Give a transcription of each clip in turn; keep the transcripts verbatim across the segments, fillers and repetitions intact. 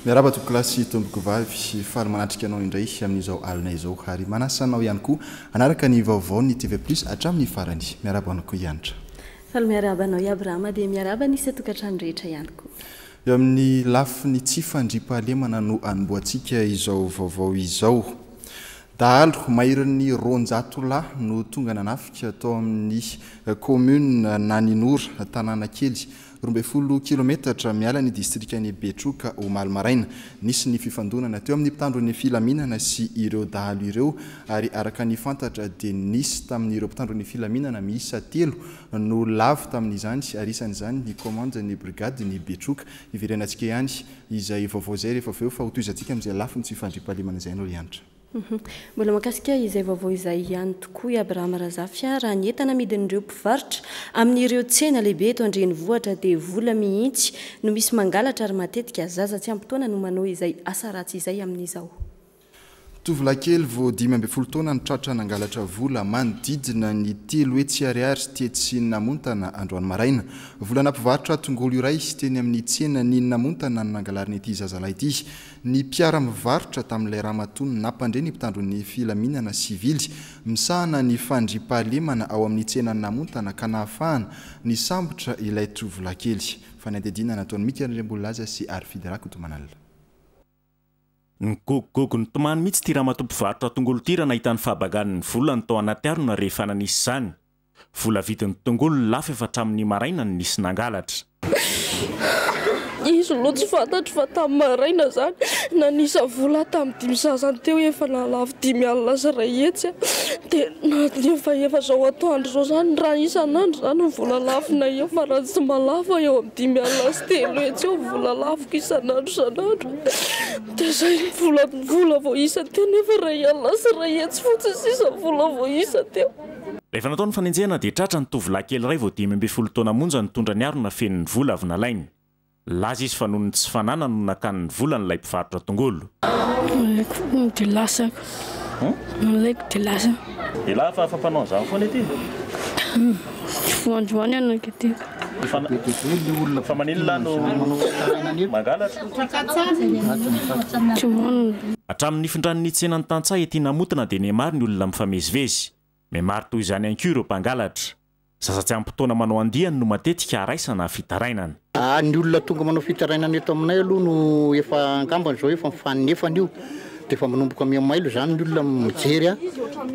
Miarahaba tompokolahy sy tompokovavy, faly manatrika anao indray amin'izao alina izao ary manasa anao ihany koa hanaraka ny vaovaon'ny T V Plus hatramin'ny farany. Miarahaba anao koa, Hianitra. Faly miarahaba anao i Abrahama, dia miarahaba ny isan-tokantrano rehetra ihany koa. Eo amin'ny lafiny tsy fandriampahalemana no anombohantsika izao vaovao izao. Dahalo maherin'ny roanjato lahy no tonga nanafika tao amin'ny commune Naninora, tanàna kely roa folo kilometatra miala ny distrika ny Betroka, omaly maraina. Nisy ny fifandonana teo amin'ny mpitandro ny filaminana sy ireo dahalo ireo, ary araka ny fantatra dia nisy tamin'ireo mpitandro ny filaminana miisa telo no lavo tamin'izany, ary isan'izany ny commandant ny brigade ny Betroka. Iverenantsika ihany izay vaovao izay rehefa aveo, fa hotohizantsika amin'izay lafiny tsy fandriampahalemana izay anao, Hianitra. Mhm. mbola mahakasika izay vaovao izay ihany tokoa i Abrahama Razafy. Raha ny entana amidin'ireo mpivarotra amin'ireo tsena lehibe eto an-drenivohitra dia vola mihitsy no misy mangalatra, ary matetika zaza tsy ampy taona no manao izay asa ratsy izay amin'izao. Tovolahy kely vao dimy ambin'ny folo taona no tratra nangalatra vola manodidina ny telo hetsy ariary tetsy Namontana androany maraina. Vola nampivarotra tongolo iray teny amin'ny tsena ny Namontana no nangalariny ity zazalahy ity. Ny mpiara-mivarotra tamin'ilay ramatoa no nampandre ny mpitandro ny filaminana sivily misahana ny fandriampahalemana ao amin'ny tsena Namontana, ka nahafahana nisambotra ilay tovolahy kely. Fanadihadiana nataon'i Mika Andriambololaza sy Arfidy Rakotomanalina. Nigogogogo nitomany mihitsy ty ramatoa mpivarotra tongolo ty raha nahita ny fahabagan'ny volany tao anaty harona rehefa nanisy izany. Vola vidin'ny tongolo lafo efa hatramin'ny maraina no nisy nangalatra. Izy no tsy fantatro fa tamin'ny maraina zany nanisa vola tamin'ny dimy sasany teo, efa nahalafo dimy alina sy iray hetsy, dia na efa efa zao atoandro zao zany, raha isan'andro zany ny vola lafona eo, fa raha tsy malafo eo amin'ny dimy alina sy telo hetsy eo vola lafoko isan'andro isan'andro. Dia zay vola vola vao isa teo, nefa iray alina sy iray hetsy fotsiny sisa vola vao isa teo. Rehefa natao ny fanenjehana dia tratra ny tovolahy kely iray vao dimy ambin'ny folo taona monja nitondra ny harona feno ny vola avy nalainy. Laza izy fa noho ny tsy fananana no nakany ny volany ilay mpivarotra tongolo. Nalaiko dia lasako, nalaiko dia lasa. Ela fa fampanao an'izany foana ity? Voandroany anaka ty. Fa maninona no mangalatra? Tsy hoanina. Hatramin'ny nifindran'ny tsenan'ny tantsaha ety Namontana dia nihamaro ny olona mifamezivezy. Mihamaro toy izany ihany koa ireo mpangalatra. Zaza tsy ampy taona manao andiany no matetika araisana fitarainana. Ah, ny olona tonga manao fitarainana eto aminay aloha no efa angambany zao efa mifanefana io, de efa manomboka miamailo zany ny olona mijery a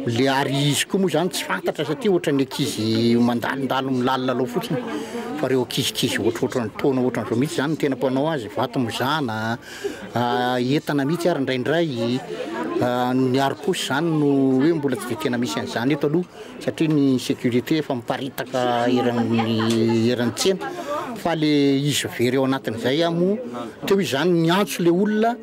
le, ary izy koa moa zany tsy fantatra satria ohatra ny ankizy mandalondalo milalolalo fotsiny, fa reo ankizikizy ohatrohatran'ny taona ohatran'izao mihitsy zany no tena mpanao azy, vato mizana, entana mihitsy, ary indraindray ny harom-paosy zany no hoe mbola tsy de tena misy an'izany eto aloha, satria ny sécurité efa miparitaka eran'ny eran'ny tsena, fa le izy very ao anatin'izay a moa teo izy zany niantso le olona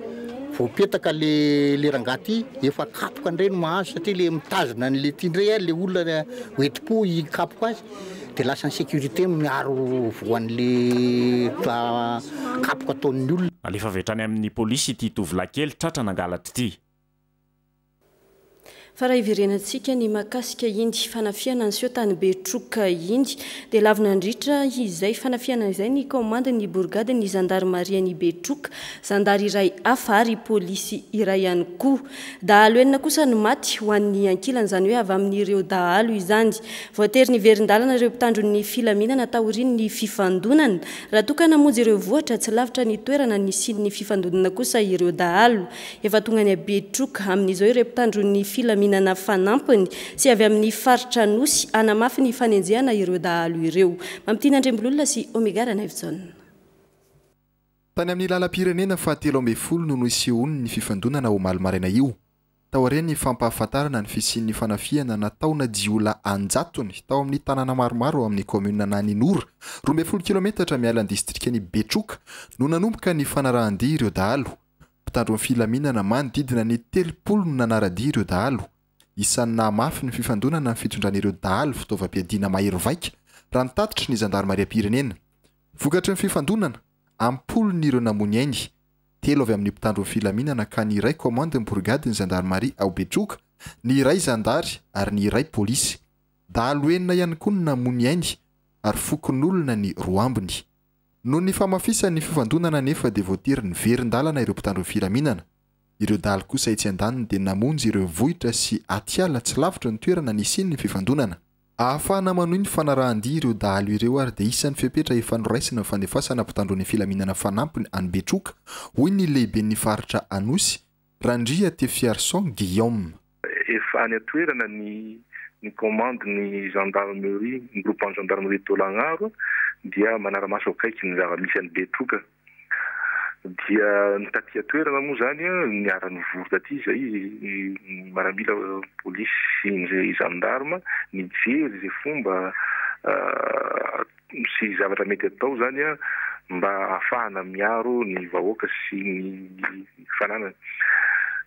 voapetaka le le rangahy ty, efa kapoka indray no mahazo, satria le mitazona an'le ty indray a le olona hoenti-po hikapoka azy, de lasa ny sécurité miaro voan'le kapoka ataon'ny olona. Alefa avy hatrany amin'ny polisy ity tovolahy kely tratra nangalatra ity. Fa raha iverenantsika ny mahakasika iny fanafihana niseho tany Betroka iny, dia lavo nandritra izay fanafihana izay ny commandant ny brigade ny zandarmaria ny Betroka, zandary iray hafa ary polisy iray ihany koa. Dahalo enina kosa no maty ho an'ny ankilany, izany hoe avy amin'ireo dahalo izany. Voatery niverin-dalana ireo mpitandro ny filaminana taorian'ny fifandonana, raha toa ka namonjy ireo vohitra tsy lavitra ny toerana nisian'ny fifandonana kosa ireo dahalo. Efa tonga any Betroka amin'izao ireo mpitandro ny filaminana fanampiny sy avy amin'ny faritra Nosy hanamafy ny fanenjehana ireo dahalo ireo. Mampitina Andrembololona sy Omega Ranaivojaona. Tany amin'ny lalam-pirenena fahatelo ambin'ny folo no nisehoan'ny ny fifandonana omaly maraina io. Taorian'ny fampahafantarana ny fisian'ny fanafihana nataona jiolahy anjatony tao amin'ny tanàna maromaro ao amin'ny commune Naninora, roa ambin'ny folo kilometatra miala ny distrika ny Betroka, no nanomboka ny fanarahan-dia ireo dahalo. Mpitandro ny filaminana manodidina ny telopolo no nanara-dia ireo dahalo. Isan'ny nahamafy ny fifandonana ny fitondran'ireo dahalo fitaovam-piadiana mahery vaika, raha ny tatitry ny zandarimariam-pirenena. Vokatry ny fifandonana, ampolony ireo namoy ny ainy, telo avy amin'ny mpitandro ny filaminana, ka ny iray commandant ny brigade ny zandarmaria ao Betroka, ny iray zandary ary ny iray polisy. Dahalo enina ihany koa no namoy ny ainy, ary fokonolona ny roa ambiny. Noho ny famafisan'ny fifandonana nefa dia voatery niverin-dalana ireo mpitandro ny filaminana. Ireo dahalo kosa etsy andaniny dia namonjy ireo vohitra sy atiala tsy lavitra ny toerana nisian'ny fifandonana. Ahafahana manohy ny fanarahan-dia ireo dahalo ireo ary dia isan'ny fepetra efa noraisina ny fandefasana mpitandro ny filaminana fanampiny any Betroka, hoy ny lehiben'ny faritra Anosy, Randria Tefiarson Guillaume. Efa any an-toerana ny ny commande ny gendarmerie, ny groupement gendarmerie Tolagnaro dia manara-maso akaiky ny zava-misy any Betroka. Dia ny taty an-toerana moa zany niara-nivory taty izay ny maramila polisy sy ny gendarme nijery izay fomba sy zavatra mety atao zany mba ahafahana miaro ny vahoaka sy ny fananany.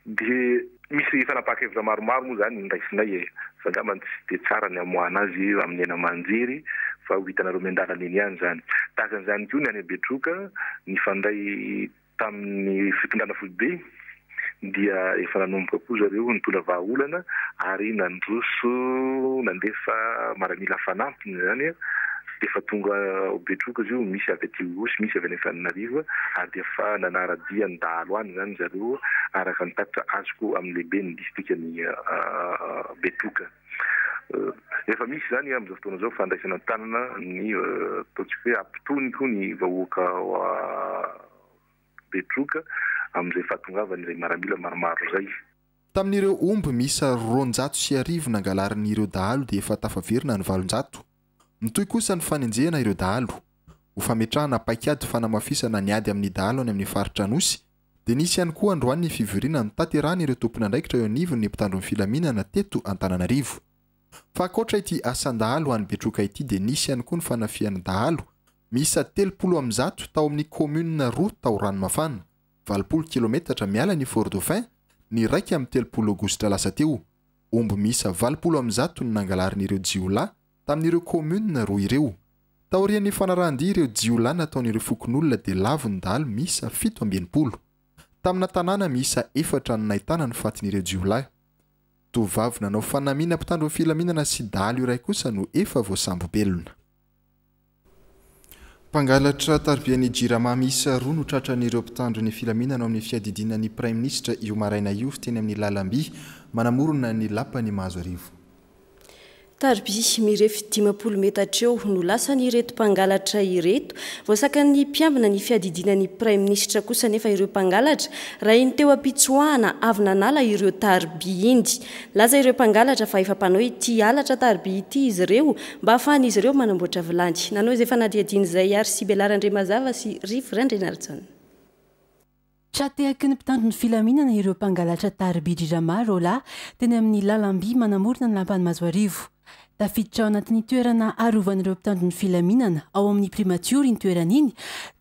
Dia misy fanapahan-kevitra maromaro moa zany niraisinay e, fa angamba tsy dia tsara ny amoahana azy amin'ny aina aman-jery fa ho hitanareo miandalana eny ihany zany. Tahaka an'izany koa ny any Betroka nifandray tamin'ny fitondrana foibe dia efa nanomboka koa zareo nitondra vahaolana ary nandroso nandefa maramila fanampiny zany. Efa tonga ao Betroka izy io, misy avy aty Ihosy, misy avy any Antananarivo ary dia efa nanara-dia ny dahalo any zany zareo araka ny tatitra azoko amin'ny lehiben'ny distrikan'i Betroka. Efa misy zany amin'izao fotoana izao fandraisana an-tanana ny ataontsika hoe ampitony koa ny vahoaka ao Betroka amin'izay fahatongavan'izay maramila maromaro izay. Tamin'ireo omby miisa roanjato sy arivo nangalarin'ireo dahalo dia efa tafaverina ny valonjato. Mitohy kosa ny fanenjehana ireo dahalo. Ho fametrahana paikady fanamafisana ny ady amin'ny dahalo any amin'ny faritra Anosy dia nisy ihany koa androany ny fivoriana notanterahana ireo tompon'andraikitra eo anivon'ny mpitandro ny filaminana teto Antananarivo. Fa ankoatra ity asan-dahalo any Betroka ity dia nisy ihany koa ny fanafihan'ny dahalo miisa telopolo amby zato tao amin'ny commune roa tao Ranomafana, valopolo kilometatra miala ny Fort Dauphin, ny iraika amby telopolo aogositra lasa teo. Omby miisa valopolo amby zato no nangalarin'ireo jiolahy tamin'ireo commune roa ireo. Taorian'ny fanarahan-dia ireo jiolahy nataon'ireo fokonolona dia lavo ny dahalo miisa fito amby enimpolo. Tamina tanàna miisa efatra no nahitana ny fatin'ireo jiolahy. Tovovavy nanao fanamiana mpitandro ny filaminana sy dahalo iray kosa no efa voasambo-belona. Mpangalatra taribian'ny Jirama miisa roa no tratran'ireo mpitandro ny filaminana ao amin'ny fiadidiana ny Praiminisitra io maraina io teny amin'ny lalamby manamorona ny lapan'i Mahazoarivo. Tariby mirefy dimampolo metatra eo no lasan'ireto mpangalatra ireto. Voasakan'ny mpiambina ny fiadidiana ny Praiminisitra kosa nefa ireo mpangalatra raha iny teo am-pitsoahana avy nanala ireo tariby iny. Laza ireo mpangalatra fa efa mpanao ity halatra tariby ity izy ireo mba ahafahan'izy ireo manamboatra vilany. Nanao izay fanadihadiana izay ary Sibela Randriamazava sy Rivo Randrianarijaona. Tra-tehaky ny mpitandro ny filaminana ireo mpangalatra tariby Jirama roa lahy teny amin'ny lalamby manamorona ny lapan'i Mahazoarivo. Tafiditra ao anatin'ny toerana arovan'ireo mpitandro ny filaminana ao amin'ny primatiora iny toerana iny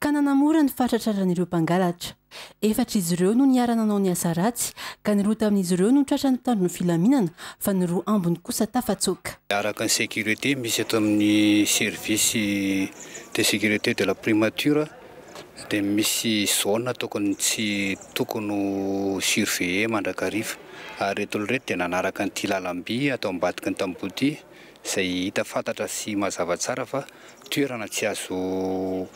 ka nanamora ny fahatratraran'ireo mpangalatra. Efatra izy ireo no niara-nanao ny asa ratsy ka ny roa tamin'izy ireo no tratran'ny mpitandro ny filaminana fa ny roa ambiny kosa tafatsoaka. Araka ny sécurité misy eto amin'ny service de sécurité de la primature dia misy zone tokony tsy tokony ho surveiller mandrakariva ary reto olona reto dia nanaraka an'ity lalamby atao ambadiky ny tamboho ity izay hita fantatra sy mazava tsara fa toerana tsy azo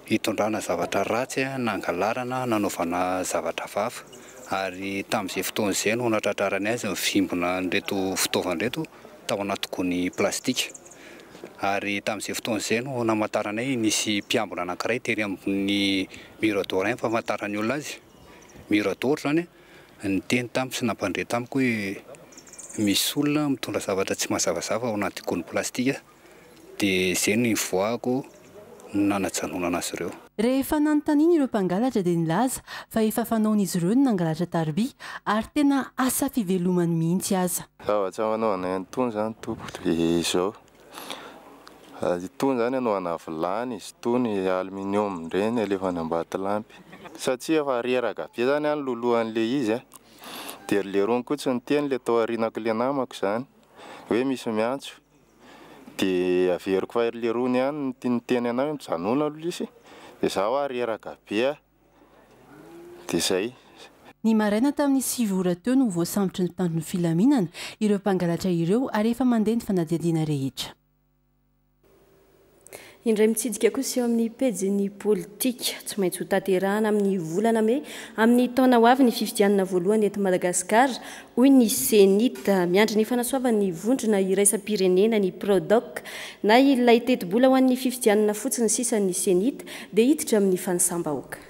hitondrana zavatra ratsy na angalarana nanaovana zavatra hafahafa ary tamin'izay fotoana izay no natratrarany azy nivimbina an'ireto fitaovana ireto tao anaty gony plastika ary tamin'izay fotoana izay no namantaranay nisy mpiambina anankiray tery amin'ny mirador iny famantaran'ny olona azy mirador zany niteny tamiko sy nampandre tamiko hoe misy olona mitondra zavatra tsy mazavazava ao anaty gony plastika dia izay no nivoahako nanajanonana azy ireo. Rehefa nanontaniana ireo mpangalatra dia nilaza fa efa fanaon'izy ireo ny nangalatra tariby ary tena asa fivelomany mihitsy aza. Zavatra manao anay an'itony zany tompoko dia izao. Itony zany anaovana vilany izy itony aluminium ireny alefa any Ambatolampy. Satria efa reraka be zany any lolohan'le izy a. Dia le rony koa tsy niteny le tao aorianako le namako zany hoe misy miantso. Dia averiko fa le rony ihany niteny anahy hoe mijanona aloha izy. Dia zaho a reraka be a. Dia zay. Ny maraina tamin'ny sivy ora teo no voasambotry ny mpitandro ny filaminana ireo mpangalatra ireo ary efa mandeha ny fanadihadiana rehetra. Indray mitsidika kosa eo amin'ny pejin'ny politika. Tsy maintsy ho tanterahana amin'ny volana mey amin'ny taona ho avy ny fifidianana voalohany eto Madagasikara, hoy ny CENIT. Miandry ny fanasoavan'ny vondrona iraisam-pirenena ny Prodoc na ilay tetibola ho an'ny fifidianana fotsiny sisa ny CENIT dia hiditra amin'ny fanisam-bahoaka.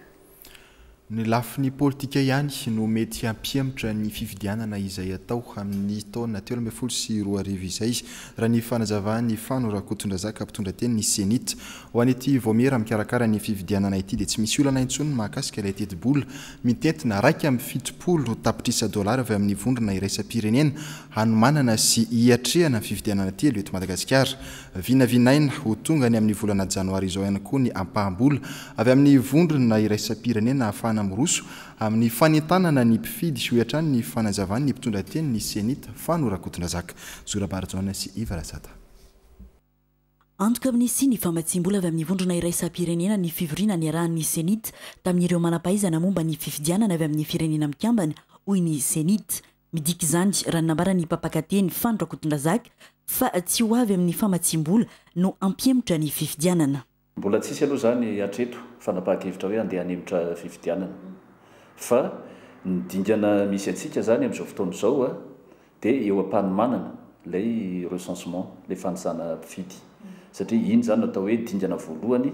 Ny lafiny politika ihany no mety hampihemotra ny fifidianana izay atao amin'ny taona telo ambin'ny folo sy roa arivo izay, raha ny fanazavan'i Fano Rakotondrazaka, mpitondra teny ny CENIT. Ho an'ity vaomiera mikarakara ny fifidianana ity dia tsy misy olana intsony mahakasika ilay tetibola mitentina raika amin'ny fitopolo tapitrisa dolara avy amin'ny vondrona iraisam-pirenena hanomanana sy hiatrehana ny fifidianana telo eto Madagasikara. Vinavinaina ho tonga ny amin'ny volana janoary izao ihany koa ny ampaham-bola avy amin'ny vondrona iraisam-pirenena ahafahana miroso amin'ny fanentanana ny mpifidy, hoy hatrany ny fanazavan'ny mpitondra teny ny CENIT Fano Rakotondrazaka. Zora Barijaona sy Iva Rasata. Antoka amin'ny sy ny famatsim-bola avy amin'ny vondrona iraisam-pirenena ny fivoriana niarahan'ny CENIT tamin'ireo manam-pahaizana momba ny fifidianana avy amin'ny firenena mikambana, hoy ny CENIT. Midika izany, raha ny nambaran'ny mpampakateny Fano Rakotondrazaka, fa tsy ho avy amin'ny famatsim-bola no hampihemotra ny fifidianana. Mbola tsisy aloha zany hatreto fanapahan-kevitra hoe andeha hanemotra fifidianana, fa ny dingana misy antsika zany amin'izao fotoana izao a dia eo am-panomanana ilay recensement, ilay fanisana mpifidy, satria iny zany no atao hoe dingana voalohany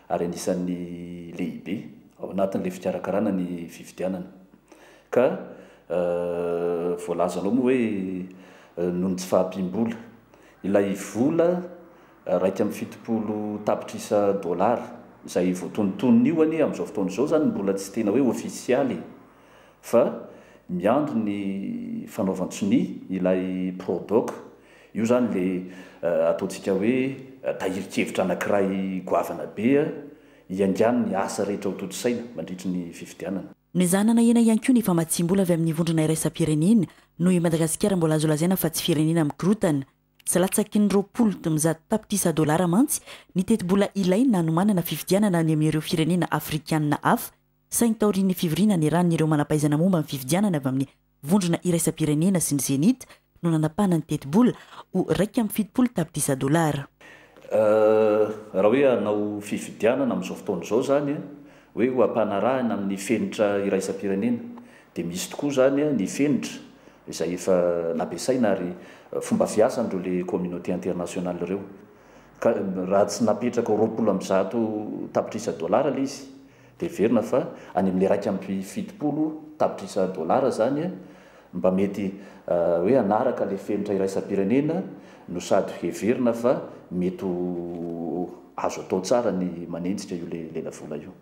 ary anisan'ny lehibe ao anatin'ilay fikarakarana ny fifidianana. Ka voalazanao moa hoe noho ny tsy fahampiam-bola, ilay vola raika amin'ny fitopolo tapitrisa dolara izay voatonontonona io anie amin'izao fotoana izao zany mbola tsy tena hoe ofisialy, fa miandry ny fanaovan-tsonia ilay Prodoc io zany, le ataontsika hoe tahirin-kevitra anankiray goavana be hiaingan'ny asa rehetra ho tontosaina mandritry ny fifidianana. Nezahana ena ihany koa ny famatsim-bola avy amin'ny vondrona iraisam-pirenena noho i Madagasikara mbola azo lazaina fa tsy firenena mikorotana. Tsy latsaky ny roapolo dimanjato tapitrisa dolara mantsy ny tetibola ilaina hanomanana fifidianana any amin'ireo firenena afrikanina hafa, saingy taorian'ny fivoriana niarahan'ireo manam-pahaizana momba ny fifidianana avy amin'ny vondrona iraisam-pirenena sy ny CENIT no nanapahana ny tetibola ho raika amin'ny fitopolo tapitrisa dolara. Raha hoe hanao fifidianana amin'izao fotoana izao zany hoe ho ampanarahina amin'ny fenitra iraisam-pirenena, dia misy tokoa zany ny fenitra izay efa nampiasaina ary fomba fiasan'ireo le communauté internationale ireo. Ka raha tsy napetraka roapolo amby zato tapitrisa dolara ilay izy, dia heverina fa any amin'ilay raika amby fitopolo tapitrisa dolara zany mba mety hoe hanaraka ilay fenitra iraisam-pirenena no sady heverina fa mety azo atao tsara ny manenjika io le lelavola io.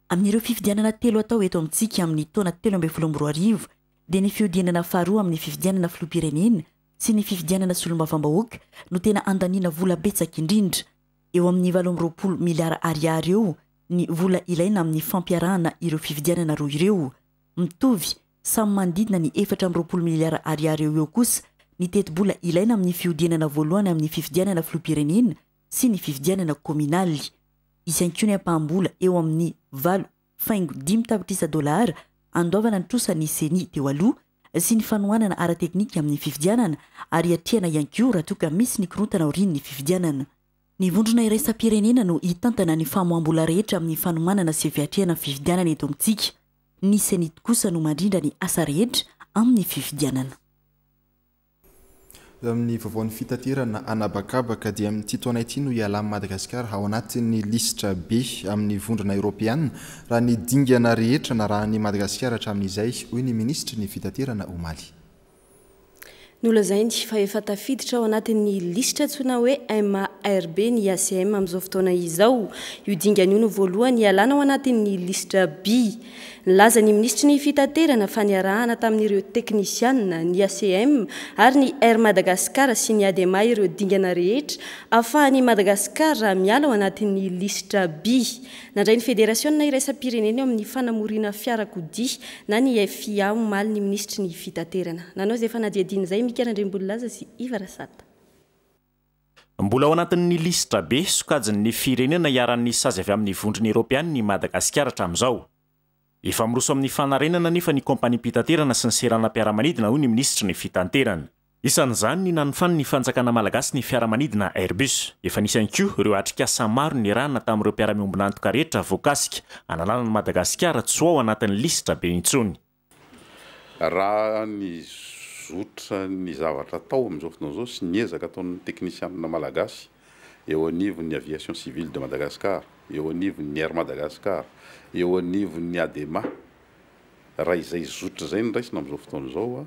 Amin'ireo fifidianana telo atao eto amintsika amin'ny taona telo ambin'ny folo amby roa arivo dia ny fihodinana faharoa amin'ny fifidianana filoham-pirenena sy ny fifidianana solombavambahoaka no tena andaniana vola betsaka indrindra. Eo amin'ny valo amby roapolo miliara ariary eo ny vola ilaina amin'ny fampiarahana ireo fifidianana roa ireo. Mitovy samy manodidina ny efatra amby roapolo miliara ariary eo eo kosa ny tetibola ilaina amin'ny fihodinana voalohany amin'ny fifidianana filoham-pirenena sy ny fifidianana kominaly. Hisy ihany koa ny ampaham-bola eo amin'ny valo faingo dimy tapitrisa dolara andoavana ny trosan'ny CENI teo aloha sy ny fanohanana ara-teknika amin'ny fifidianana ary hiatrehana ihany koa raha toa ka misy ny korontana aorian'ny fifidianana. Ny vondrona iraisam-pirenena no hitantana ny famoaham-bola rehetra amin'ny fanomanana sy fiatrehana fifidianana eto amintsika. Ny CENIT kosa no mandrindra ny asa rehetra amin'ny fifidianana. Amin'ny vaovaon'ny fitaterana anabakabaka dia amin'ity taona ity no hialan'i Madagasikara ao anatin'ny lisitra B amin'ny vondrona eoropeana raha ny dingana rehetra narahan'i Madagasikara hatramin'izay, hoy ny minisitry ny fitaterana omaly. Nolazainy fa efa tafiditra ao anatin'ny lisitra antsoina hoe M A R B ny A C M amin'izao fotoana izao. Io dingana io no voalohany hialana ao anatin'ny lisitra B. Nilaza ny minisitry ny fitaterana fa niarahana tamin'ireo teknisianina ny A C M ary ny Air Madagascar sy ny A D M A ireo dingana rehetra ahafahan'i Madagasikara miala ao anatin'ny lisitra B. Nandray ny federasiona iraisam-pirenena eo amin'ny fanamoriana fiarakodia na ny F I A omaly ny minisitry ny fitaterana. Nanao izay fanadihadiana izay Mika Randriambololaza sy Iva Rasata. Mbola ao anatin'ny lisitra B sokajin'ny firenena iharan'ny sazy avy amin'ny vondrona eoropeana i Madagasikara hatramin'izao. Efa miroso amin'ny fanarenana nefa ny kompaniam-pitaterana sy ny seranam-piaramanidina, hoy ny minisitry ny fitaterana. Isan'izany ny nanofan'ny fanjakana malagasy ny fiaramanidina Airbus. Efa nisy ihany koa ireo atrikasa maro nirahana tamin'ireo mpiara-miombon'antoka rehetra voakasika analana ny Madagasikara tsy ho ao anatin'ny lisitra be intsony. Raha ny zotra ny zavatra atao amin'izao fotoana izao sy ny ezaka ataon'ny teknisianina malagasy eo anivon'ny Aviation Civile de Madagascar, eo anivon'ny Air Madagascar, eo anivon'ny ADEMA, raha izay zotra izay no raisina amin'izao fotoana izao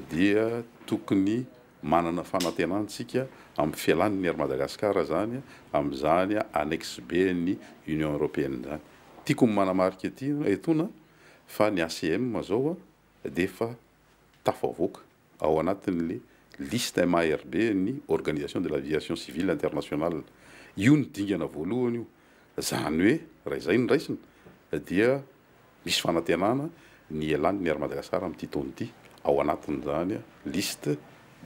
dia tokony manana fanantenantsika amin'ny fialan'ny Air Madagascar zany amin'izany annexe B ny Union Européenne zany. Tiako ny manamarika ety etoana fa ny A C M zao dia efa tafavoaka ao anatin'le liste M A R B ny Organisation de l'Aviation Civile Internationale. Io ny dingana voalohany io. Zany hoe raha izay no raisina dia misy fanantenana ny ialan'ny Air Madagascar amin'ity taona ity ao anatin'izany liste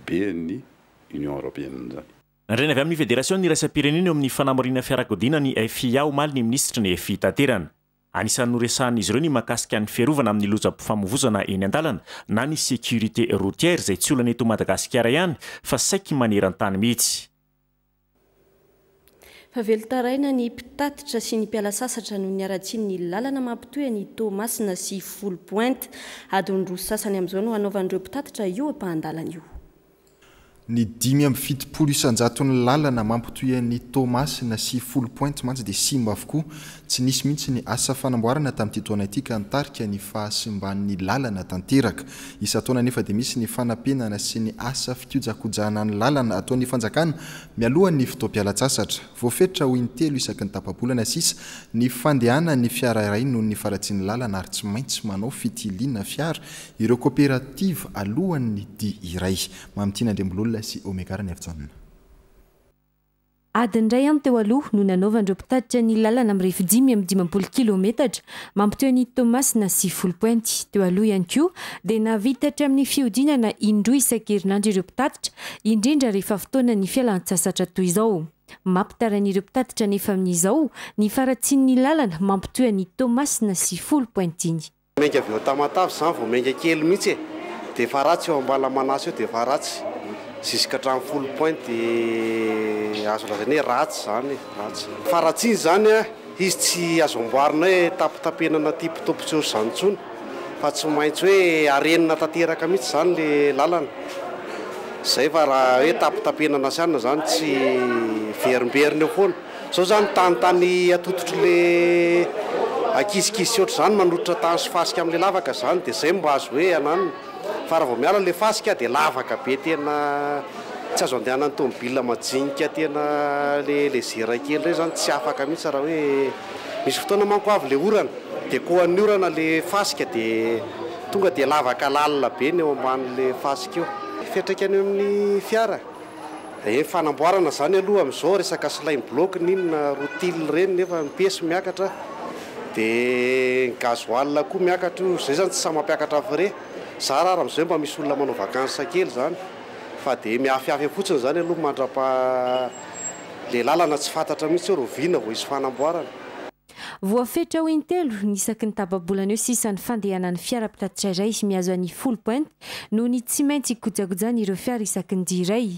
B ny Union Européenne zany. Nandray avy amin'ny Fédération iraisam-pirenena eo amin'ny fanamoriana fiarakodia ny F I A omaly ny minisitry ny fitaterana. Anisan'ny noresahan'izy ireo ny mahakasika ny fiarovana amin'ny lozam-pifamoivoizana eny an-dalana na ny sécurité routière, izay tsy olana eto Madagasikara ihany fa saiky maneran-tany mihitsy. Fa velon-taraina ny mpitatitra sy ny mpiala sasatra noho ny haratsian'ny lalana mampitohy ny Toamasina sy Foulpointe. Adiny roa sasany amin'izao no hanaovan'ireo mpitatitra io ampahan-dalana io. Ny dimy amby fitopolo isanjaton'ny lalana mampitohy ny Toamasina sy Foulpointe mantsy dia simba avokoa. Tsy nisy mihitsy ny asa fanamboarana tamin'ity taona ity ka nitarika ny fahasimban'ny lalana tanteraka. Isan-taona nefa dia misy ny fanapenana sy ny asa fikojakojana ny lalana ataon'ny fanjakana mialohan'ny fotoam-pialan-tsasatra. Voafetra ho intelo isaky ny tapa-bolana sisa ny fandehana ny fiara iray noho ny faharatsian'ny lalana, ary tsy maintsy manao fitiliana fiara ireo kooperativa alohan'ny dia iray. Mamitiana Andriambololona sy Omegara ny Afijaonina. Adiny iray any teo aloha no nanaovan'ireo mpitatitra ny lalana mirefy dimy amby dimampolo kilometatra mampitohy ny Toamasina sy Foulpointe. Teo aloha ihany koa dia nahavita hatramin'ny fihodinana indroa isan-kerinandro ireo mpitatitra, indrindra rehefa fotoana ny fialan-tsasatra toy izao. Mampitaraina ireo mpitatitra nefa amin'izao ny faharatsian'ny lalana mampitohy ny Toamasina sy Foulpointe iny. Mainka avy eo Tamatavy zany vao mainka kely mihitsy e, dia efa ratsy eo Ambalamanasy eo, dia efa ratsy jusqu'à hatramin'ny Foulpointe, dia azo lazaina hoe ratsy zany, ratsy faharatsiany zany a. Izy tsy azo amboarina hoe tapitapenana tipitopy tsy zany intsony, fa tsy maintsy hoe arenina tanteraka mihitsy zany le lalana zay, fa raha hoe tapitapenana sy anina zany tsy verimberina eo foana zao zany. Tanytany atototry le ankizikizy sy ohatr' zany manototra tany sy fasika amin'le lavaka zany, dia zay mba azo hoe ananina, fa raha vao miala le fasika dia lavaka be, tena tsy azo andehanany tomobila majinika, tena le légère kely rey zany tsy afaka mihitsy. Raha hoe misy fotoana manko avy le orana, dia koan'ny orana le fasika, dia tonga dia lavaka lalina be ny eo amban'le fasika io, fiatraikany eo amin'ny fiara. E fanamboarana zany aloha am'izao resaka silent bloc ninona rutile reny, nefa mipesy miakatra, dia gasoil koa miakatra io. Zay zany tsy samy mampiakatra frais za raha raha am'izay mba misy olona manao vacances kely zany, fa dia miafiafy fotsiny zany aloha mandrapa le lalana tsy fantatra mihitsy hoe roviana vao hisy fanamboarana. Voafetra ho intelo ny isaky ny tapa-bolana eo sisa ny fandehanan'ny fiara mpitatitra iray mihazo an'i Foulpointe noho ny tsy maintsy kojakojany ireo fiara isaky ny dia iray.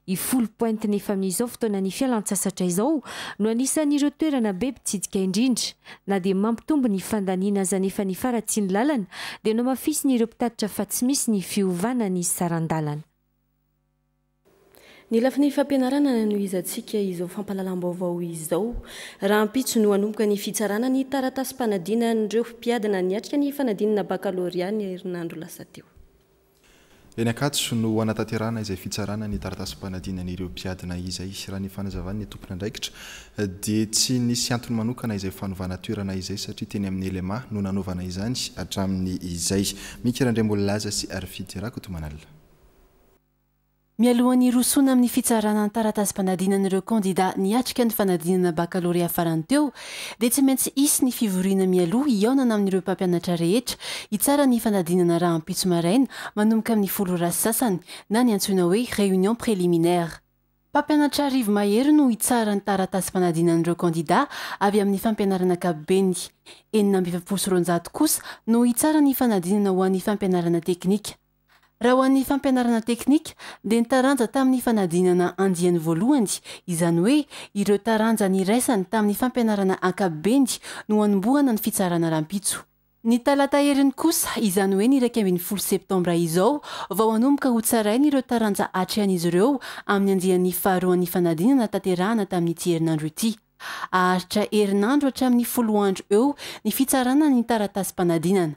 I Foulpointe nefa amin'izao fotoana ny fialan-tsasatra izao no anisan'ireo toerana be mpitsidika indrindra. Na dia mampitombo ny fandaniana aza nefa ny faharatsian'ny lalana, dia nohamafisiny ireo mpitatitra fa tsy misy ny fiovana ny saran-dalana. Ny lafiny fampianarana no izantsika izao fampahalalam-baovao izao. Rahampitso no hanomboka ny fitsarana ny taratasy-panadinan'ireo mpiadina niatrika ny fanadinana bakalorea ny herinandro lasa teo. Eny Ankatso no anatanterahana izay fitsarana ny taratasy-panadinan'ireo mpiadina izay. Raha ny fanazavan'ny tompon'andraikitra dia tsy nisy antony manokana izay fanovana toerana izay, satria teny amin'ny L M A no nanaovana izany hatramin'ny izay. Mika Randriambololaza sy Arfidy Rakotomanalina. Mialohan'ny hirosoana amin'ny fitsarana ny taratasy-panadinan'ireo kandida niatrika ny fanadinana bakalorea farany teo, dia tsy maintsy hisy ny fivoriana mialoha hihaonana amin'ireo mpampianatra rehetra hitsara ny fanadinana rahampitso maraina manomboka amin'ny folo ora sy sasany, na ny antsoina hoe réunion préliminaire. Mpampianatra arivo mahery no hitsara ny taratasy-panadinan'ireo kandida avy amin'ny fampianarana ankapobeny. Enina amby efapolo sy roanjato kosa no hitsara ny fanadinana ho an'ny fampianarana teknika. Raha ho an'ny fampianarana teknika dia ny taranja tamin'ny fanadinana andiany voalohany, izany hoe ireo taranja niraisany tamin'ny fampianarana ankapobeny no hanombohana ny fitsarana rahampitso. Ny talata heriny kosa, izany hoe ny iraika ambin'ny folo septambra izao, vao hanomboka ho tsaraina ireo taranja atrehan'izy ireo amin'ny andiany faharoan'ny fanadinana tanterahana tamin'ity herinandro ity. Haharitra herinandro hatramin'ny folo andro eo ny fitsarana ny taratasim-panadinana.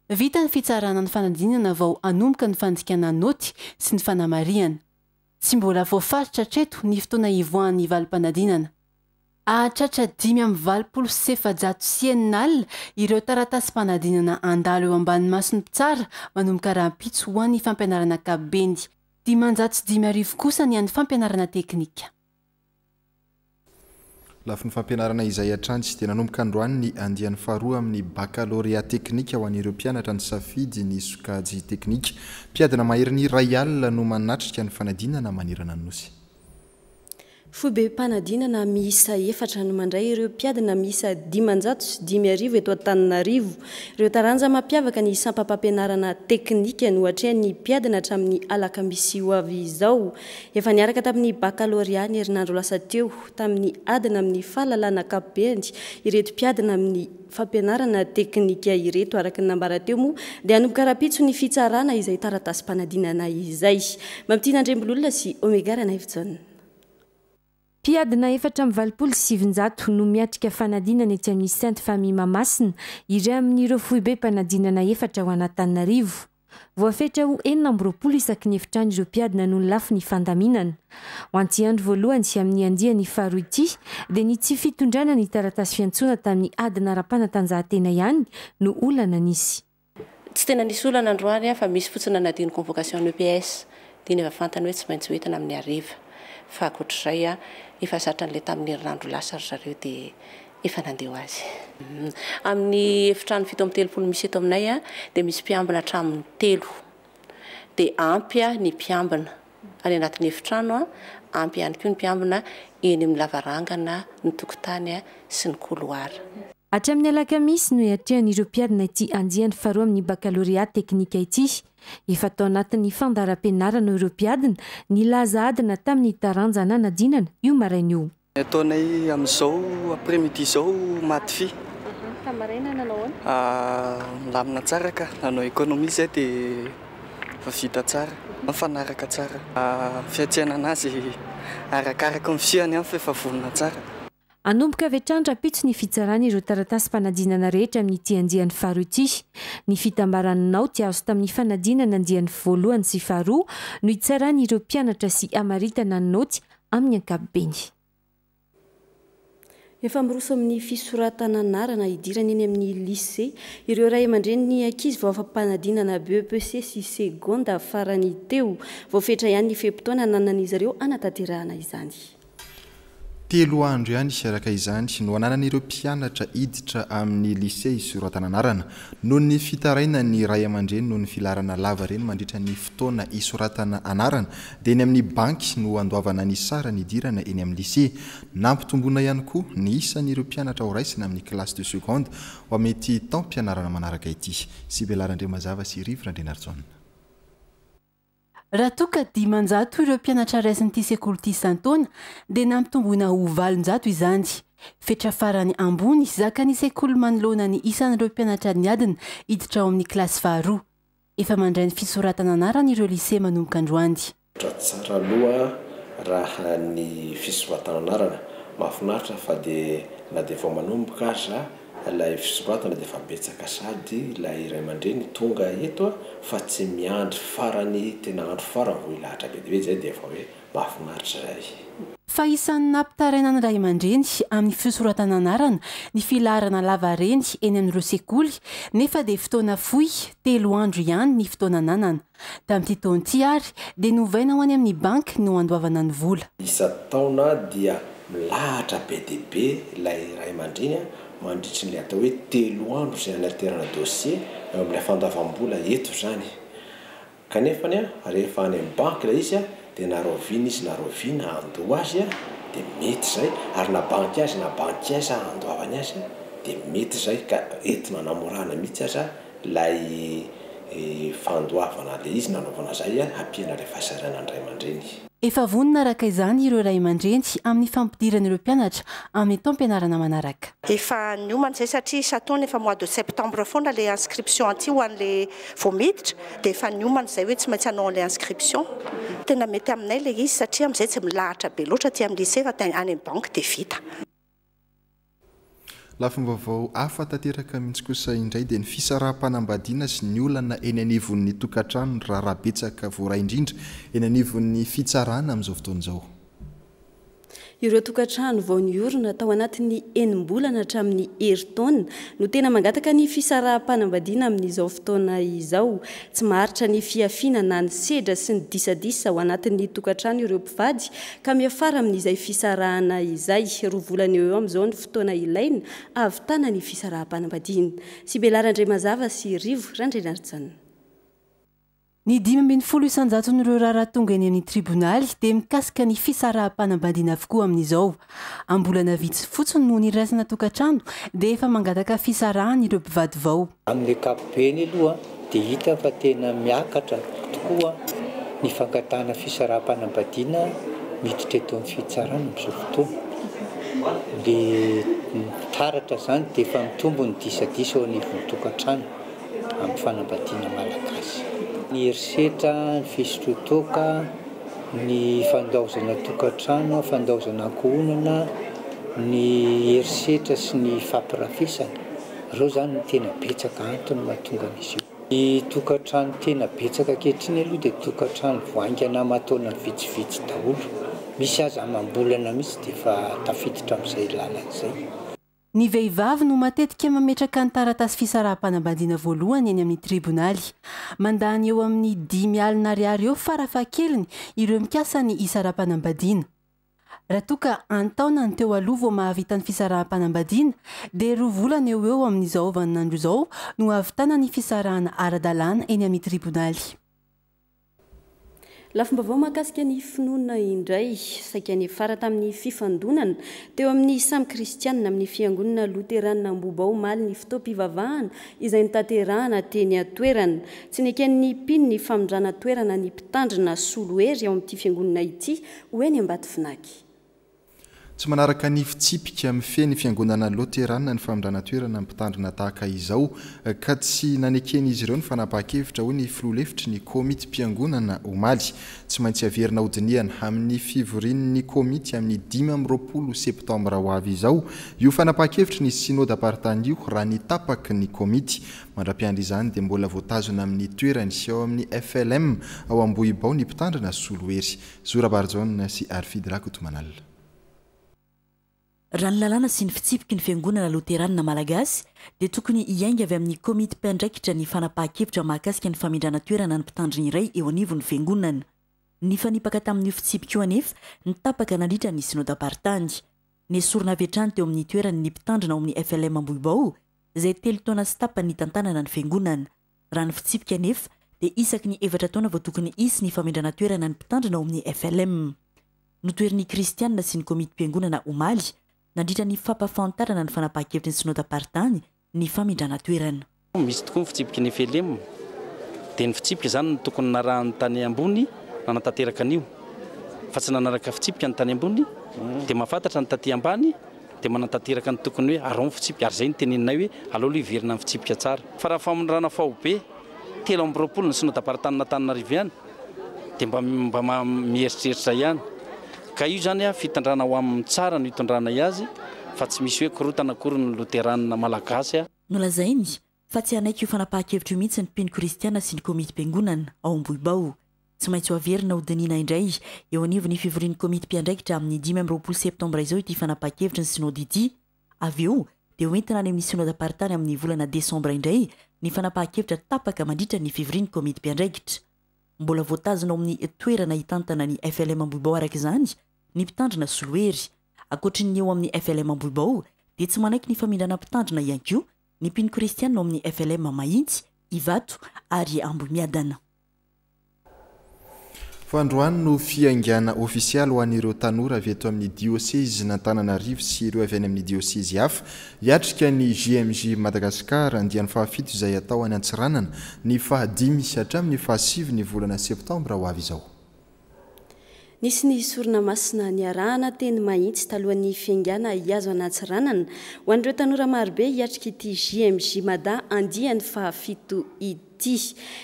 Vita ny fitsarana ny fanadinana vao hanomboka ny fandikana naoty sy ny fanamarihana. Tsy mbola voafaritra hatreto ny fotoana hivoahan'ny valim-panadinana. Hahatratra dimy amby valopolo sy efajato sy enina alina ireo taratasim-panadinana handalo eo ambany mason'ny mpitsara manomboka rahampitso ho an'ny fampianarana ankapobeny. Dimanjato sy dimy arivo kosa ny an'ny fampianarana teknika. Lafiny fampianarana izay hatrany dia nanomboka androany ny andiany faharoa amin'ny bakalorea teknika ho an'ireo mpianatra ny safidy ny sokajy teknika. Mpiadina maherin'ny iray alina no manatrika ny fanadinana manerana ny nosy. Foibem-panadinana miisa efatra no mandray ireo mpiadina miisa dimanjato sy dimy arivo eto Antananarivo. Ireo taranja mampiavaka ny sampam-pampianarana teknika no atrehan'ny mpiadina hatramin'ny alakamisy ho avy izao. Efa niaraka tamin'ny bakalorea ny herinandro lasa teo tamin'ny adina amin'ny fahalalana ankapobeny ireto mpiadina amin'ny fampianarana teknika ireto. Araka ny nambara teo moa dia hanomboka rahampitso ny fitsarana izay taratasim-panadinana izay. Mampitina Andriambololona sy Omega Ranaivojaona. Mpiadina efatra amby valopolo sy sivinjato no miatrika fanadinana etsy amin'ny Sainte Famille Mahamasina, iray amin'ireo foibem-panadinana efatra ho an'Antananarivo. Voafetra ho enina amby roapolo isaky ny efitrano ireo mpiadina noho ny lafiny fandaminana. Ho an'ity andro voalohany sy amin'ny andiany faharoa ity dia ny tsy fitondrana ny taratasy fiantsoana tamin'ny adina ara-panatanjahantena ihany no olana nisy. Tsy tena nisy olana androany fa misy fotsiny nanadino convocation E P S dia ny efa fantany hoe tsy maintsy hoentina amin'ny hariva. Fa ankoatr'izay a, efa zatra an'ilay tamin'ny herinandro lasa ry zareo dia efa nandeha ho azy. Amin'ny efitrano fito amby telopolo misy eto aminay a, dia misy mpiambina hatramin'ny telo. Dia ampy a ny mpiambina any anatin'ny efitrano a, ampy ihany koa ny mpiambina eny amin'ny lavarangana, ny tokotany a sy ny couloir. Hatramin'ny alakamisy no hiatrehan'ireo mpiadina ity andiany faharoa amin'ny bakalorea teknika ity. Efa tao anatin'ny fandaharam-pianarana ireo mpiadina nilaza adina tamin'ny taranja nanadinana io maraina io. Ny ataonay amin'izao après-midi izao maty fy. Tamin'ny maraina nanao ahoana? Milamina tsara ka, nanao économie izay dia efa vita tsara, mifanaraka tsara. Fiatrehana anazy arakaraka ny fihany ihany fa efa vonona tsara. Hanomboka avy hatrany rahampitso ny fitsarana ireo taratasim-panadinana rehetra amin'ity andiany faharoa ity. Ny fitambaran'ny naoty azo tamin'ny fanadinana andiany voalohany sy faharoa no hitsarana ireo mpianatra sy hamaritana ny naoty amin'ny ankapobeny. Efa miroso amin'ny fisoratana anarana hidirana eny amin'ny lycée ireo ray aman-dreny ny ankizy vao afa-panadinana B E P C sy segonda farany teo. Voafetra ihany ny fe-potoana ananan'izy ireo hanatanterahana izany. Telo andro ihany araka izany no ananan'ireo mpianatra hiditra amin'ny lycée hisoratana anarana. Noho ny fitarainan'ny ray aman-dreny noho ny filaharana lava reny mandritra ny fotoana hisoratana anarana dia eny amin'ny banky no andoavana ny sarany hidirana eny amin'ny lycée. Nampitomboina ihany koa ny isan'ireo mpianatra ho raisina amin'ny classe de seconde ho amin'ity taom-pianarana manaraka ity. Sibela Randriamazava sy Rivo Randrianarijaona. Raha toa ka dimanjato ireo mpianatra raisin'ity sekoly ity isan-taona dia nampitomboina ho valonjato izany. Fetra farany ambony zakan'ny sekoly manoloana ny isan'ireo mpianatra niadina hiditra ao amin'ny kilasy faharoa. Efa mandray ny fisoratana anarana ireo lycée manomboka androany. Tsara aloha raha ny fisoratana anarana mahafinaritra fa dia na dia vao manomboka aza ilay fisoratana dia efa betsaka sady ilay ray aman-dreny tonga eto fa tsy miandry farany tena andro farany vao hilahatra be dia be izay dia efa hoe mahafinaritra izay. Fa isan'ny nampitaraina ny ray aman-dreny amin'ny fisoratana anarana ny filaharana lava reny eny amin'ireo sekoly nefa dia fotoana fohy telo andro ihany ny fotoana ananana. Tamin'ity taona ity ary dia novaina ho any amin'ny banky no andoavana ny vola. Isan-taona dia milahatra be dia be ilay ray aman-dreny mandritry ny atao hoe telo andro izay anaterana dossier eo amin'ilay fandoavam-bola eto izany. Kanefa ny rehefa any amin'ny banky ilay izy dia na rahoviana izy na rahoviana andoa azy dia mety izay, ary na banky azy na banky aiza andoavany azy dia mety izay, ka entina anamorana mihitsy aza ilay fandoavana le izy nanaovana zay ampiana le fahasahiranan'ny ray aman-dreny. Efa vonona araka izany ireo ray aman-dreny amin'ny fampidirana ireo mpianatra amin'ny taom-pianarana manaraka. Efa niomana izay satria isan-taona efa mois de septembre foana le inscription aty ho an'le vao miditra, dia efa niomana izay hoe tsy maintsy hanao an'le inscription. Tena mety aminay le izy satria amin'izay tsy milahatra be loatra aty amin'ny lycée fa any amin'ny banque dia vita. Lafim-baovao hafa tanteraka mihitsy kosa indray dia ny fisaraham-panambadiana sy ny olana eny anivon'ny tokantrano raharaha betsaka voaray indrindra eny anivon'ny fitsarana amin'izao fotoana izao. Ireo tokantrano vao niorina tao anatin'ny enim-bolana hatramin'ny herintaona no tena mangataka ny fisaraham-panambadiana amin'izao fotoana izao. Tsy maharitra ny fiafiana na ny sedra sy ny disadisa ao anatin'ny tokantrano ireo mpivady ka miafara amin'izay fisarahana izay. Roa volana eo eo amin'izao ny fotoana ilaina ahavitana ny fisaraham-panambadiana. Sibela Randriamazava sy Rivo Randrianarijanona. Ny dimy ambin'ny folo isan-jaton'ireo raharaha tonga eny amin'ny tribonaly dia mikasika ny fisaraham-panambadiana avokoa amin'izao. Am-bolana vitsy fotsiny no niraisana tokantrano dia efa mangataka fisarahana ireo mpivady vao. Amin'ny ankapobeny aloha dia hita fa tena miakatra tokoa ny fangatahana fisaraham-panambadiana miditra eto amin'ny fitsarana amin'izao fotoana. Dia taratra izany dia efa mitombo ny disadisa eo anivon'ny tokantrano amin'ny fanambadiana malagasy. Ny herisetra, ny fisotroan-toaka, ny fandaozana tokantrano, fandaozana ankohonana, ny herisetra sy ny fampirafesana, ireo izany no tena betsaka antony mahatonga an'izy io. Ny tokantrano tena betsaka ankehitriny aloha dia tokantrano vao haingana aman-taona vitsivitsy daholo. Misy aza amam-bolana mihitsy dia efa tafiditra amin'izay lalana izay. Ny vehivavy no matetika mametraka ny taratasy fisaraham-panambadiana voalohany eny amin'ny tribonaly. Mandany eo amin'ny dimy alina ariary eo farafahakeliny ireo mikasa ny hisaraham-panambadiana. Raha toa ka an-taona ny teo aloha vao mahavita ny fisaraham-panambadiana dia roa volana eo eo amin'izao vaninandro izao no hahavitana ny fisarahana ara-dalàna eny amin'ny tribonaly. Lafim-baovao mahakasika ny finoana indray, saika niafara tamin'ny fifandonana teo amin'ny samy kristianina amin'ny fiangonana loterana Ambohibao omaly ny fotoam-pivavahana izay notanterahana teny an-toerana. Tsy neken'ny mpino ny famindrana toerana ny mpitandrina solohery ao amin'ity fiangonana ity ho eny Ambatovinaky. Tsy manaraka ny fitsipika mifehy ny fiangonana loterana ny famindrana toerana mpitandrina tahaka izao ka tsy naneken'izy ireo ny fanapahan-kevitra hoy ny filoha lefitry ny komity mpiangonana omaly. Tsy maintsy averina hodinihana amin'ny fivorian'ny komity amin'ny dimy amby roapolo septambra ho avy izao io fanapahan-kevitry ny synodam-paritany io raha ny tapaky ny komity. Mandra-piandry izany dia mbola voatazona amin'ny toerany sy ao amin'ny F L M ao Ambohibao ny mpitandrina solohery. Zora Barjaona sy Arfidy Rakotomanala. Raha ny lalàna sy ny fitsipiky ny fiangonana loterana malagasy dia tokony hiainga avy amin'ny komity mpiandraikitra ny fanapahan-kevitra mahakasika ny famindrana toerana ny mpitandrina iray eo anivon'ny fiangonana. Nifanipaka tamin'io fitsipika io anefa ny tapaka nandritra ny synodam-paritany. Nesorina avy hatrany teo amin'ny toerany ny mpitandrina ao amin'ny F L M Ambohibao izay telo taona sy tapany nitantanana ny fiangonana. Raha ny fitsipika anefa dia isaky ny efatra taona vao tokony hisy ny famindrana toerana ny mpitandrina ao amin'ny F L M. Notoherin'ny kristianina sy ny komity mpiangonana omaly nandritra ny fampahafantarana ny fanapahan-kevitry ny synodam-paritany ny famindrana toerana. Misy tokoa ny fitsipiky ny F L M, dia ny fitsipika izany no tokony narahan'ny tany ambony nanatanteraka an'io, fa tsy nanaraka fitsipika ny tany ambony dia mahafantatra ny taty ambany dia manatanteraka ny tokony hoe arao ny fitsipika, ary izay no teneninay hoe aleo aloha hiverina ny fitsipika tsara. Fa raha famindrana faobe telo amby roapolo ny synodam-paritanin'Antananarivo ihany dia mba mba mieritreritra ihany. Ka io zany a fitondrana ho amin'ny tsara no hitondranay azy fa tsy misy hoe korotana akory ny loterana malagasy a. Nolazainy fa tsy hanaiky io fanapahan-kevitra io mihitsy ny mpino kristiana sy ny komity mpiangonana ao Ambohibao. Tsy maintsy ho averina hodinihina indray eo anivon'ny fivorian'ny komity mpiandraikitra amin'ny dimy amby roapolo septambra izao ity fanapahan-kevitry ny synody ity. Avy eo dia hoentina any amin'ny synodam-paritany amin'ny volana desambra indray ny fanapahan-kevitra tapaka mandritra ny fivorian'ny komity mpiandraikitra. Mbola voatazona ao amin'ny toerana hitantana ny F L M Ambohibao araka izany ny mpitandrina solohery. Ankoatry ny eo amin'ny F L M Ambohibao dia tsy manaiky ny famindrana mpitandrina ihany koa ny mpino kristianina ao amin'ny F L M Mahitsy, Ivato ary Ambohimiadana. Fandroany no fiaingana ofisialy ho an'ireo tanora avy eto amin'ny diosezin'Antananarivo sy ireo avy any amin'ny diosezy hafa hiatrika ny J M J Madagasikara andiany fahafito izay atao any Antsiranana ny fahadimy hatramin'ny fahasivy ny volana septambra ho avy izao. Nisy ny sorona masina niarahana teny Mahitsy talohan'ny fiaingana hiazo an'Antsiranana ho an'ireo tanora marobe hiatrika ity J M J Mada andiany fahafito ity.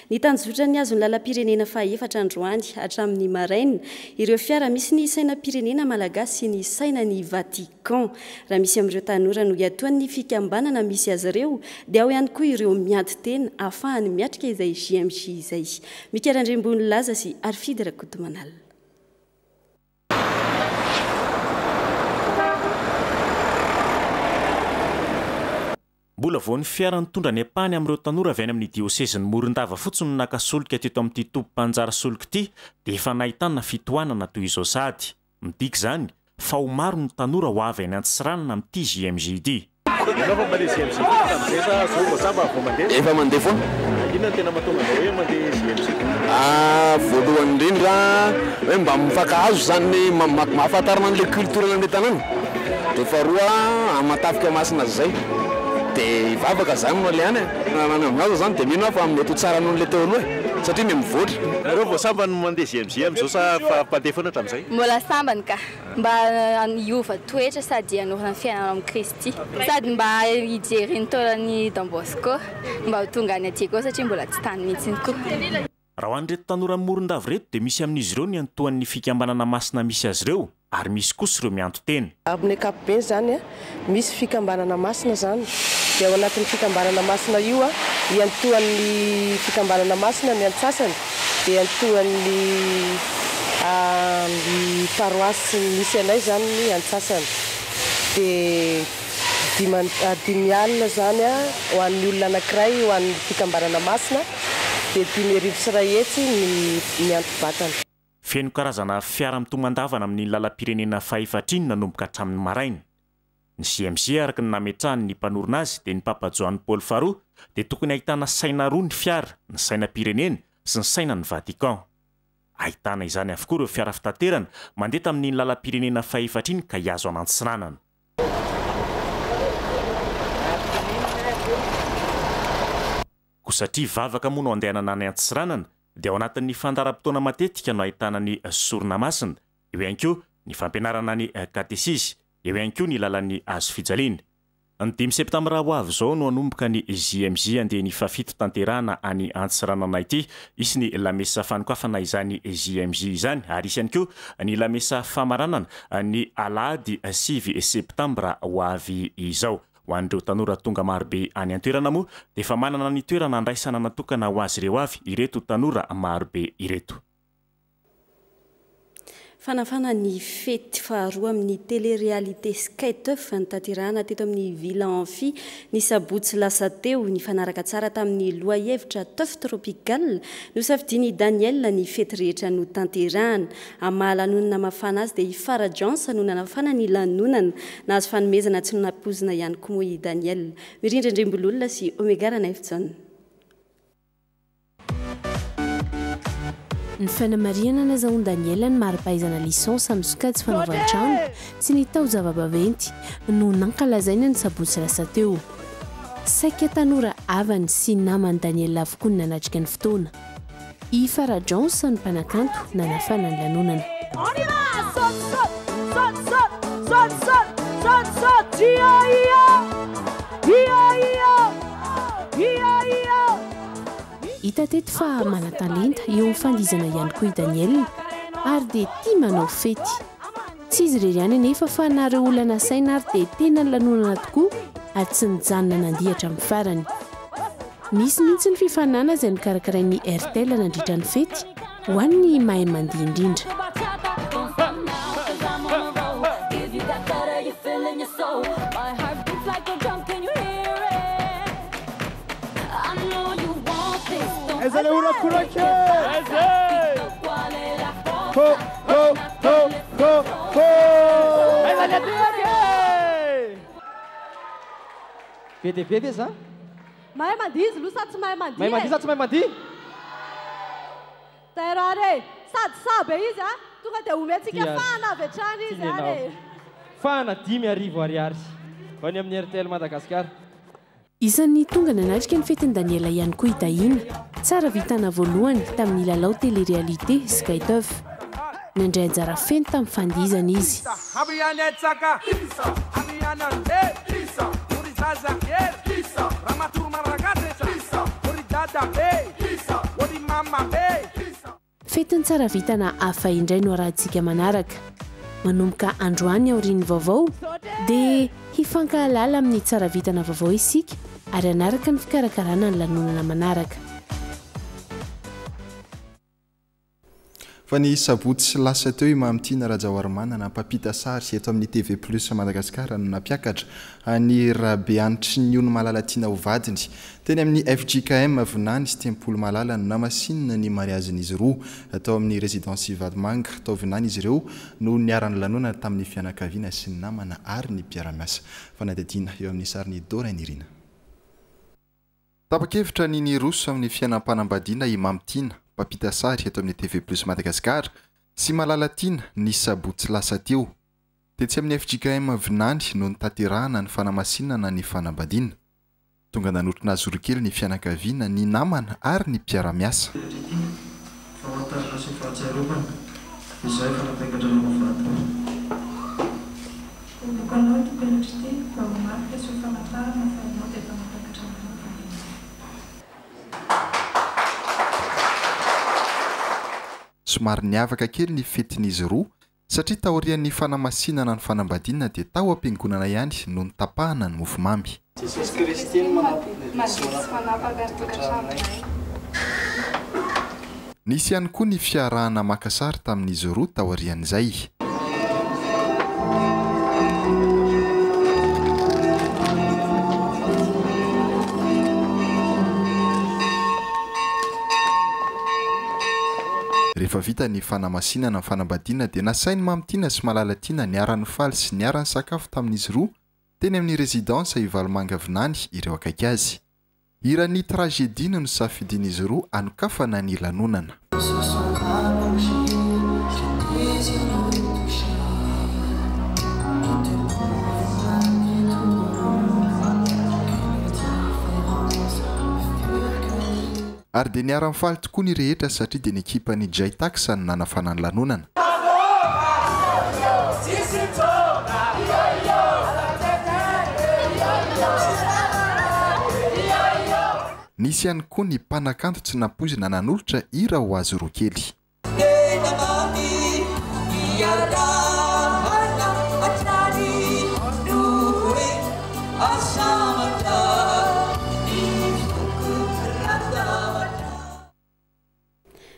Ny tanjotra ny azon'ny lalam-pirenena fahaefatra androany hatramin'ny maraina ireo fiara misy ny sainam-pirenena malagasy sy ny sainan'ny Vatican. Raha misy amin'ireo tanora no iatoan'ny fikambanana misy azy ireo dia ao ihany koa ireo miady tena ahafahany miatrika izay J M J izay. Mika Randriambonilaza sy Arfidy Rakotomanala. Mbola vao ny fiara nitondra ny ampahany amin'ireo tanora avy any amin'ny diosezin'ny Morondava fotsiny no naka solika teto amin'ity tobim-panjary solika ity dia efa nahitana fitohanana toy izao sady. Midika izany fa ho maro ny tanora ho avy any Antsiranana amin'ity J M J ity. Efa mandeha foana. Inona no tena mahatonga anao hoe mandeha J M J? Ah, voalohany indrindra hoe mba mifankahazo izany, mahafantarana an'ilay culture an'ilay tanàna. Dia faharoa amatafika masina izay. Dia hivavaka izany no alehany e. Raha ny amin'azy izany dia mino aho fa mety ho tsara noho ilay teo aloha e, satria miha mivoatra. Nareo vao sambany mandeha J M J amin'izao sa fa mpandeha foana hatramin'izay? Mbola sambany ka. Mba hiova toetra sady hanorina ny fiainana amin'i Kristy. Sady mba hijery ny taolan'i Don Bosco mba ho tonga any aty koa satria mbola tsy tany mihitsy koa. Raha ho an'ireto tanora Morondava ireto dia misy amin'izy ireo ny antoan'ny fikambanana masina misy azy ireo ary misy kosa ireo mianto-tena. Amin'ny ankapobeny izany, misy fikambanana masina izany. Dia ao anatin'ny fikambanana masina io, iantohan'ny fikambanana masina ny antsasany, dia iantohan'ny paroasy misy anay izany ny antsasany. Dia dimy alina izany ho an'ny olona anankiray, ho an'ny fikambanana masina, dia dimy arivo sy iray hetsy ny mianto-batana. Feno karazana fiara mitomandavana amin'ny lalam-pirenena fahefatra iny nanomboka hatramin'ny maraina. Ny J M J araka ny nametrahany ny mpanorina azy dia ny Papa Joany Paoly faharoa dia tokony ahitana saina roa ny fiara, ny sainam-pirenena sy ny sainan'ny Vatican. Ahitana izany avokoa ireo fiara fitaterana mandeha tamin'iny lalam-pirenena fahefatra iny ka hiazo an'Antsiranana. Koa satria vavaka moa no andehanana any Antsiranana dia ao anatin'ny fandaharam-potoana matetika no ahitana ny sorona masina, eo ihany koa ny fampianarana ny katesizy, eo ihany koa ny lalan'ny hazo fijaliana. Ny dimy septambra ho avy izao no hanomboka ny J M J andiany fahafito tanterahana any Antsiranana ity. Hisy ny lamesa fanokafana izany J M J izany ary hisy ihany koa ny lamesa famaranana ny alahady sivy septambra ho avy izao. Ho an'ireo tanora tonga marobe any an-toerana moa dia efa manana ny toerana andraisana natokana ho azy ireo avy ireto tanora marobe ireto. Fanafana ny fety faharoa amin'ny télé-réalité Skyteuf notanterahana teto amin'ny Villa Amphi ny sabotsy lasa teo. Nifanaraka tsara tamin'ny lohahevitra Teuf Tropical nosafidian'i Daniel ny fety rehetra notanterahana. Amin'ny maha lanonana mafana azy dia i Farah Johnson no nanafana ny lanonana. Nahazo fanomezana tsy nampoizina ihany koa moa i Daniel. Mirindra Andriambololona sy Omega Ranaivojaona. Ny fanamarihana nazahoan'i Daniel ny mari-pahaizana licence amin'ny sokajy fanaovan-trano sy ny taozava-baventy no nankalazaina ny sabotsy lasa teo. Saika tanora havany sy naman'i Daniel avokoa ny nanatrika ny fotoana. I Farah Johnson ny mpanakanto nanafana ny lanonana. Hita teto fa manan-talenta eo amin'ny fandihizana ihany koa i Daniel ary dia tia manao fety. Tsy izy irery ihany anefa fa na ireo olona nasaina ary dia tena nilanonana tokoa ary tsy nijanona nandihy hatramin'ny farany. Nisy mihitsy ny fifaninanana izay nokarakarain'ny Airtel nandritra ny fety ho an'ny mahay mandihy indrindra. Be dia be ve za? Mahay mandihy izy aloha sa tsy mahay mandihy? Mahay mandihy sa tsy mahay mandihy? Tairo ary e! Sady sabe izy a, tonga dia omentsika fahana avy hatrany izy ary. Fahana dimy arivo ariary ho any amin'ny Airtel Madagascar. Isan'ny tonga nanatrika ny fetin'i Daniela ihany koa i Dahina, tsara vitana voalohany tamin'ny lalao télé-réalité Skytov. Nandray anjara feno tamin'ny fandihizana izy. Fetin'ny tsara vitana hafa indray no arahantsika manaraka. Manomboka androany aorian'ny vaovao dia hifankahalala amin'ny tsara vitana vaovao isika ary hanaraka ny fikarakarana ny lanonana manaraka. Fa ny sabotsy lasa teo i Mamitiana Rajaoarimanana mpampita sary eto amin'ny T V Plus Madagascar no nampiakatra ny Rabeanitry ny Ony Malala tiana ho vadiny. Teny amin'ny F J K M Vinany sy Tempoly Malala no namasinina ny mariazin'izy roa tao amin'ny résidence Vatomanga tao Vinany izy ireo no niara-ny lanonana tamin'ny fianakaviana sy ny namana ary ny mpiara-miasa. Fanadihadiana eo amin'ny sarin'i Dora Nirina. Tapa-kevitra ny niroso amin'ny fiainam-panambadiana i Mamitiana mpampita sary eto amin'ny T V Plus Madagascar sy Malala tiana ny sabotsy lasa teo. Tetsy amin'ny F J K M Vinany no nitaterahana ny fanamasinana ny fanambadiana. Tonga nanotrona azy roa kely ny fianakaviana, ny namana ary ny mpiara-miasa. Somary niavaka kely ny fetin'izy roa satria taorian'ny fanamasinana ny fanambadiana dia tao am-piangonana ihany no nitapahana ny mofomamy. Jesosy Kristy no manapaka ny tokantranonay. Nisy ihany koa ny fiarahana maka sary tamin'izy roa taorian'izay. Rehefa vita ny fanamasinana ny fanambadiana dia nasain'i Mamitiana sy Malala tiana niara-nifaly sy niara-nisakafo tamin'izy roa teny amin'ny résidence Ivalomanga Vinany ireo akaiky azy. Hiran'ny tragédie no nosafidian'izy roa hanokafana ny lanonana. Ary dia niara-nifaly tokoa ny rehetra satria dia ny ekipan'ny Jaytax no nanafana ny lanonana. Nisy ihany koa ny mpanakanto tsy nampoizina nanolotra hira ho azy roa kely.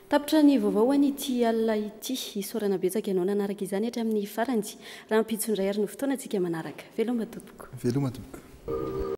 Tapitra ny vaovao an'ity alina ity. Isaorana betsaka ianao nanaraka izany hatramin'ny farany. Raha ampitso indray ary no fotoanantsika manaraka. Veloma tompoko. Veloma tompoko.